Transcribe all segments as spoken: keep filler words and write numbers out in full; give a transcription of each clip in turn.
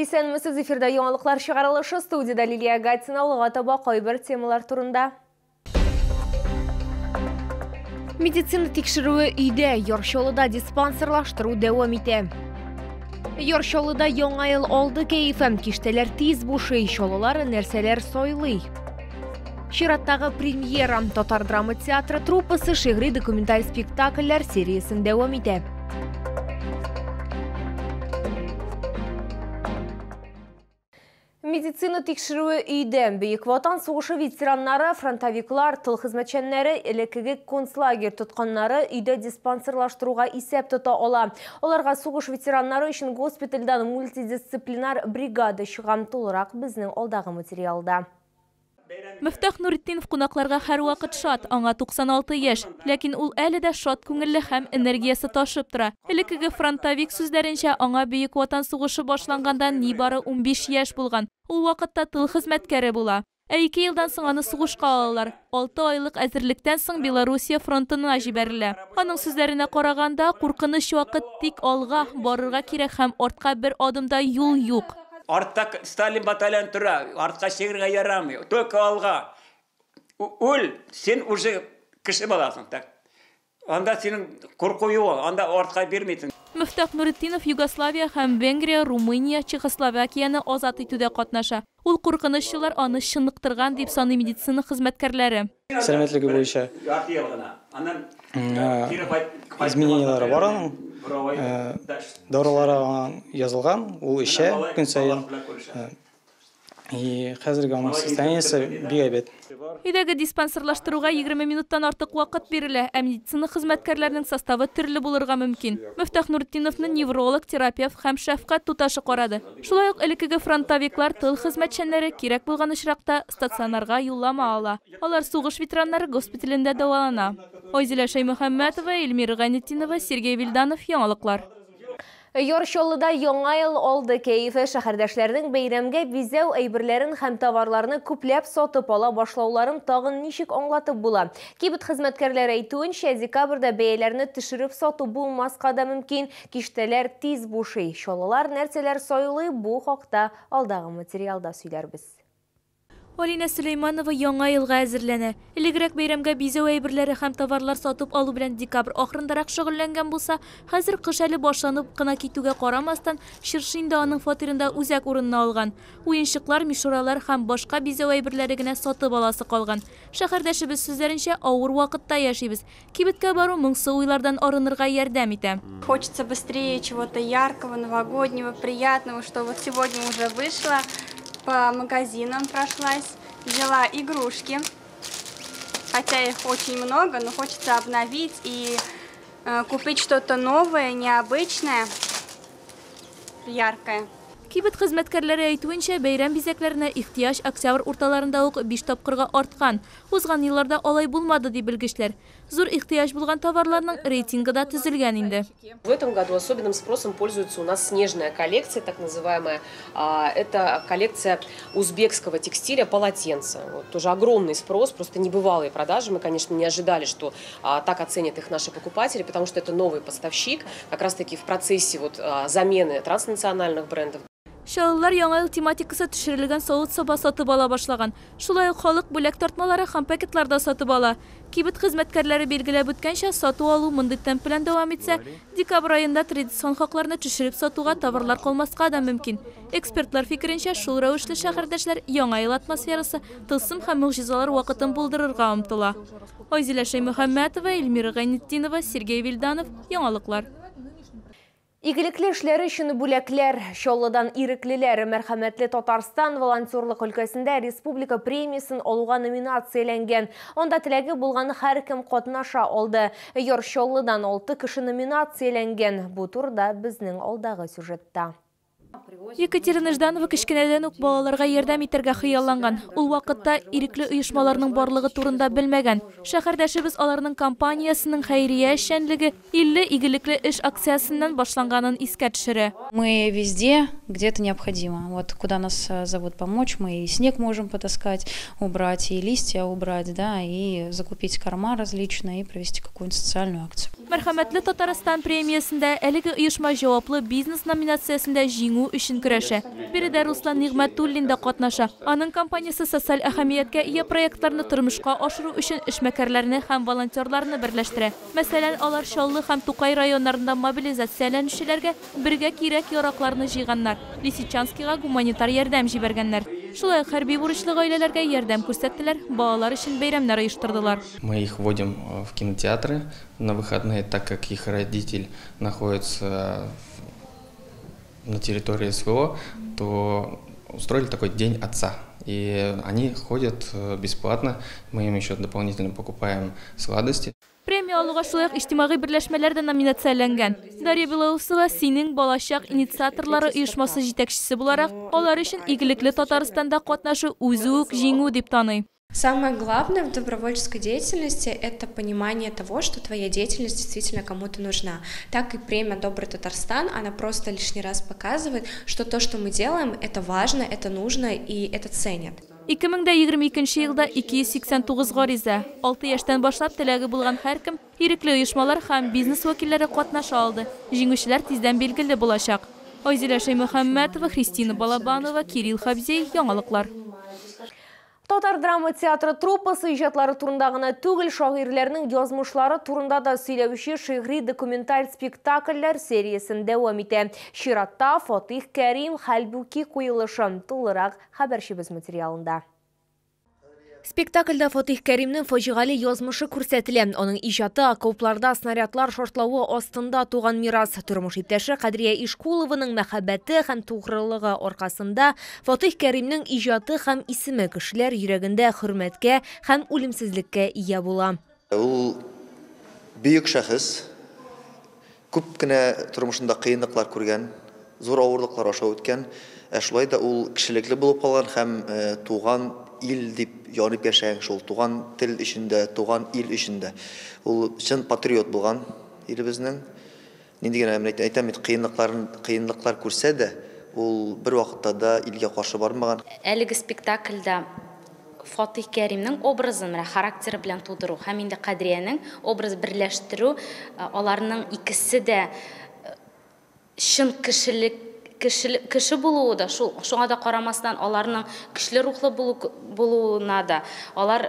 Исәнмесез, эфирда яңалыклар чыгарылышы, студияда Лилия Гатина. Алга таба кайбер темалар турында. Медицина тикшерүе өйдә, Яр Чаллыда диспансерлаштыру дәвам итә. Яр Чаллыда яңа ел алды кәефе, киштәләр тиз бушый, чаллылар нәрсәләр сайлый. Чираттагы премьера. Татар драма театры труппасы шигъри документаль спектакльләр сериясен дәвам итә. Медицина тикшерүе өйдә. Бөек Ватан сугышы ветераннары, фронтовиклар, тыл хезмәтчәннәре, элеккеге концлагерь тотканнары өйдә диспансерлаштыруга исәп тота ала. Аларга сугыш ветераннары өчен госпитальдән мультидисциплинар бригада чыга. Тулырак безнең алдагы материалда. Мөфтах Нуретдинов кунакларга һәрвакыт шат, аңа туксан алты яшь, ләкин ул әле дә шат күңелле һәм энергиясе ташып тора. Элеккеге фронтовик сүзләренчә, аңа Бөек Ватан сугышы башланганда нибары унбиш яшь булган. Ул вакытта тыл хезмәткәре була. Ә ике елдан соң аны сугышка алалар. Алты айлык әзерлектән соң Белоруссия фронтына җибәрелә. Аның сүзләренә караганда, куркыныч вакыт, тик алга барырга кирәк һәм артка бер адым да юл юк. Артта Сталин батальон тора, артка чигергә ярамый, только алга. Үл, син уже кеше буласың, так. Анда синең курку юк, анда артка бирмисең. Мөфтах Нуретдинов Югославия һәм Венгрия, Румыния, Чехословакияне азат итүдә катнаша. Ул куркыныч еллар аны чыныктырган дип саный медицина хезмәткәрләре. Сәламәтлеге буенча измененияләре бар аның. Дарулары аңа язылган, ул эчә көн саен. И хәзерге аның состояниесе бик әйбәт. Өйдәге диспансерлаштыруга егерме минуттан артык вакыт бирелә, ә медицина хезмәткәрләренең составы төрле булырга мөмкин. Мөфтах Нуретдиновны невролог, терапевт һәм шәфкать туташы карады. Шулай ук элеккеге фронтовиклар, тыл хезмәтчәннәре кирәк булган очракта стационарга юллама ала. Алар сугыш ветераннары госпиталендә дәвалана. Айзилә Шәймөхәммәтова, Эльмира Гайнетдинова, Сергей Вильданов, яңалыклар. Яр Чаллыда яңа ел алды кәефе. Шәһәрдәшләрнең бәйрәмгә бизәү әйберләрен һәм товарларны күпләп сатып ала башлауларын тагын ничек аңлатып була? Кибет хезмәткәрләре әйтүенчә, декабрьдә бәяләрне төшереп сату булмаска да мөмкин. Киштәләр тиз бушый. Чаллылар нәрсәләр сайлый, бу хакта алдагы материалда сөйләрбез. Алина Сөләйманова яңа елга әзерләнә. Элегрәк бәйрәмгә бизәү әйберләре һәм товарлар сатып алу белән декабрь ахырындарак шөгыльләнгән булса, хәзер кыш әле башланып кына китүгә карамастан, чыршы инде аның фатирында үзәк урынны алган. Уенчыклар, мишуралар һәм башка бизәү әйберләре генә сатып аласы калган. Шәһәрдәшебез сүзләренчә, авыр вакытта яшибез. Кибеткә бару моңсу уйлардан арынырга ярдәм итә. Хочется быстрее чего-то яркого, новогоднего, приятного, что вот сегодня уже вышло. По магазинам прошлась, взяла игрушки, хотя их очень много, но хочется обновить и, э, купить что-то новое, необычное, яркое. Кибет хезмәткәрләре әйтүенчә, бәйрәм бизәкләренә ихтыяҗ октябрь урталарында ук биш тапкырга арткан. Узган елларда алай булмады, ди белгечләр. Зур ихтыяҗ булган товарларның рейтингы да төзелгән инде. В этом году особенным спросом пользуется у нас снежная коллекция, так называемая. Это коллекция узбекского текстиля полотенца. Вот, тоже огромный спрос, просто небывалые продажи. Мы, конечно, не ожидали, что так оценят их наши покупатели, потому что это новый поставщик, как раз-таки в процессе вот замены транснациональных брендов. Чаллылар яңа ел тематикасы төшерелгән савыт-саба сатып ала башлаган. Шулай ук халык бүләк тартмалары һәм пакетлар да сатып ала. Кибет хезмәткәрләре билгеләп үткәнчә, сату алу мондый темп белән дәвам итсә, декабрь аенда традицион хакларны төшереп сатуга товарлар калмаска да мөмкин. Экспертлар фикеренчә, шул рәвешле шәһәрдәшләр яңа ел атмосферасы, тылсым һәм могҗизалар вакытын булдырырга омтыла. Айзилә Шәймөхәммәтова, Эльмира Гайнетдинова, Сергей Вильданов, яңалыклар. Игелекле эшләре өчен бүләкләр. Чаллыдан иреклеләр Мәрхәмәтле Татарстан волонтерлык өлкәсендә республика премиясен алуга номинацияләнгән. Анда теләге булган һәркем катнаша алды. Яр Чаллыдан алты кеше номинацияләнгән. Бу турыда безнең алдагы сюжетта. Екатерина Жданова кечкенәдән үк балаларга ярдәм итәргә хыялланган. Ул вакытта ирекле оешмаларның барлыгы турында белмәгән. Шәһәрдәшебез аларның компаниясының хәйрия эшчәнлеге илле игелекле эш акциясеннән башланганын искә төшерә. Мы везде, где это необходимо. Вот куда нас зовут помочь, мы и снег можем потаскать, убрать, и листья убрать, да, и закупить корма различные, и провести какую-нибудь социальную акцию. Мәрхәмәтле Татарстан премиясендә әлеге оешма җаваплы бизнес номинациясендә җиңү җиңү өчен көрәшә. Биредә Руслан Нигъмәтуллин да катнаша. Аның компаниясе социаль әһәмияткә ия проектларны тормышка ашыру өчен эшмәкәрләрне һәм волонтерларны берләштерә. Мәсәлән, алар Чаллы һәм Тукай районнарында мобилизацияләнүчеләргә бергә кирәк-яракларны җыйганнар. Лисичанскига гуманитар ярдәм җибәргәннәр. Шулай ук хәрби бурычлы гаиләләргә ярдәм күрсәттеләр, балалар өчен бәйрәмнәр оештырдылар. Мы их вводим в кинотеатры на выходные, так как их родитель находится на территории СВО, то устроили такой день отца. И они ходят бесплатно, мы им еще дополнительно покупаем сладости. Премия алуга шулай ук иҗтимагый берләшмәләр дә номинацияләнгән. Дарья Белоусова Синең балачак инициаторлары оешмасы җитәкчесе буларак, алар өчен игелекле Татарстанда катнашу үзе үк җиңү дип таный. Самое главное в добровольческой деятельности – это понимание того, что твоя деятельность действительно кому-то нужна. Так и премия «Добрый Татарстан», она просто лишний раз показывает, что то, что мы делаем, это важно, это нужно и это ценят. ике мең дә егерме икенче елда ике йөз сиксән тугыз гариза, алты яшьтән башлап теләге булган һәркем, ирекле оешмалар һәм бизнес вәкилләре катнаша алды. Җиңүчеләр тиздән билгеле булачак. Айзилә Шәймөхәммәтова, Христина Балабанова, Кирилл Хабзей, Яңалыклар. Татар драма театры труппасы иҗатлары турында гына түгел, шагыйрьләрнең язмышлары турында да сөйләүче шигъри документаль спектакльләр сериясен дәвам итә. Чиратта Фатих Кәрим Хәлбуки куелышы. Тулырак хәбәрчебез материалында. Спектакльдә Фатих Кәримнең фаҗигале язмышы күрсәтелә. Аның иҗаты окопларда снарядлар шартлавы астында туган мирас. Тормыш иптәше Кадрия Ишкулованың мәхәббәте һәм тугрылыгы аркасында Фатих Кәримнең иҗаты һәм исеме кешеләр йөрәгендә хөрмәткә һәм үлемсезлеккә ия була. Ул бөек шәхес, күп кенә тормышында кыенлыклар күргән, зур авырлыклар аша үткән, ә шулай да ул кешелекле булып калган һәм туган ил дип янып яшәгән, шул туган тел эчендә, туган ил эчендә. Ул чын патриот булган илебезнең. Нинди генә әйтәм бит, кыенлыкларын кыенлыклар күрсә дә, ул бер вакытта да илгә каршы бармаган. Әлеге спектакльдә Фатих Кәримнең образын, характеры белән тудыру һәм инде Кадриянең образ берләштерү, аларның икесе дә чын кешелек кеше булуы да, шул шуңа да карамастан аларның көчле рухлы булуына да, алар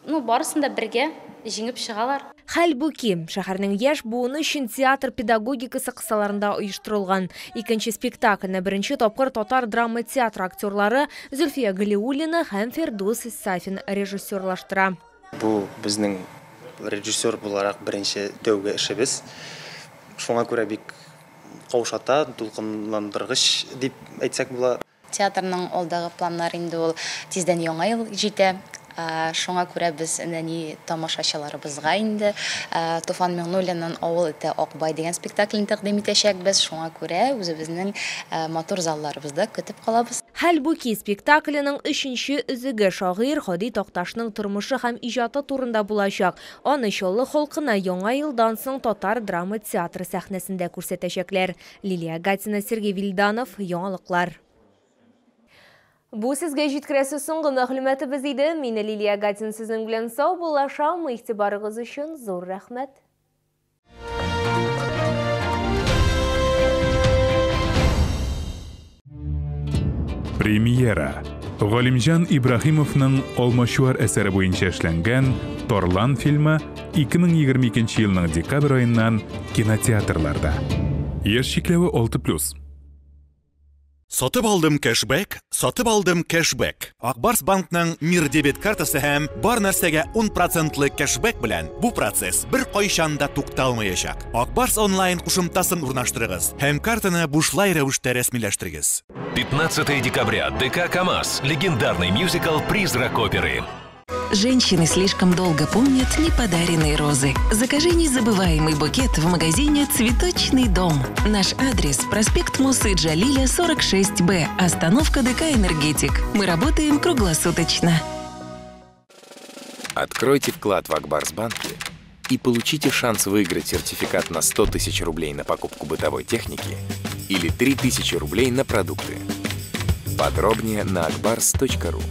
ну барысын да бергә җиңеп чыгалар. Хәлбуки шәһәрнең яшь буыны өчен театр педагогикасы кысаларында оештырылган. Икенче спектакльне беренче тапкыр татар драма театры актерлары Зөлфия Галиуллина һәм Фирдус Сафин режиссерлаштыра. Бу безнең режиссер буларак беренче тәүге эшебез. Шуңа күрә бик каушата, дулкынландыргыч дип әйтсәк була. Театрның алдагы планнары инде ул тиздән яңа ел җитә. Шуңа күрә без нәни тамашачыларыбызга инде Туфан Миңнуллинның Авыл ите Акбай дигән спектаклен тәкъдим итәчәкбез. Шуңа күрә үзебезнең матур залларыбызда көтеп калабыз. Хәлбуки спектакленең өченче өзеге шагыйрь Һади Такташның тормышы һәм иҗаты турында булачак. Аны Чаллы халкына яңа елдан соң татар драма театры сәхнәсендә күрсәтәчәкләр. Лилия Гатина, Сергей Вильданов, Яңалыклар. Бу сезгә җиткерәсе соңгы мәгълүматыбыз иде. Мин Лилия Гатина сезнең белән сау булашам. Игътибарыгыз өчен зур рәхмәт. Премьера. Галимҗан Ибраһимовның Алмачуар әсәре буенча эшләнгән Торлан фильмы ике мең егерме икенче елның декабрь аеннан кинотеатрларда. Яшь чикләве алты плюс. Сатып алдым кэшбэк, сатып алдым кэшбэк. Акбарс банкның Мир дебет картасы һәм бар нәрсәгә ун процентлы кэшбэк белән бу процесс бер кайчан да тукталмаячак. Акбарс онлайн кушымтасын урнаштырыгыз һәм картаны бушлай рәвештә рәсмиләштерегез. пятнадцатое декабря. ДК КамАЗ. Легендарный мюзикл «Призрак оперы». Женщины слишком долго помнят неподаренные розы. Закажи незабываемый букет в магазине «Цветочный дом». Наш адрес – проспект Мусы Джалиля, сорок шесть Б, остановка ДК «Энергетик». Мы работаем круглосуточно. Откройте вклад в Акбарсбанке и получите шанс выиграть сертификат на сто тысяч рублей на покупку бытовой техники или три тысячи рублей на продукты. Подробнее на акбарс точка ру.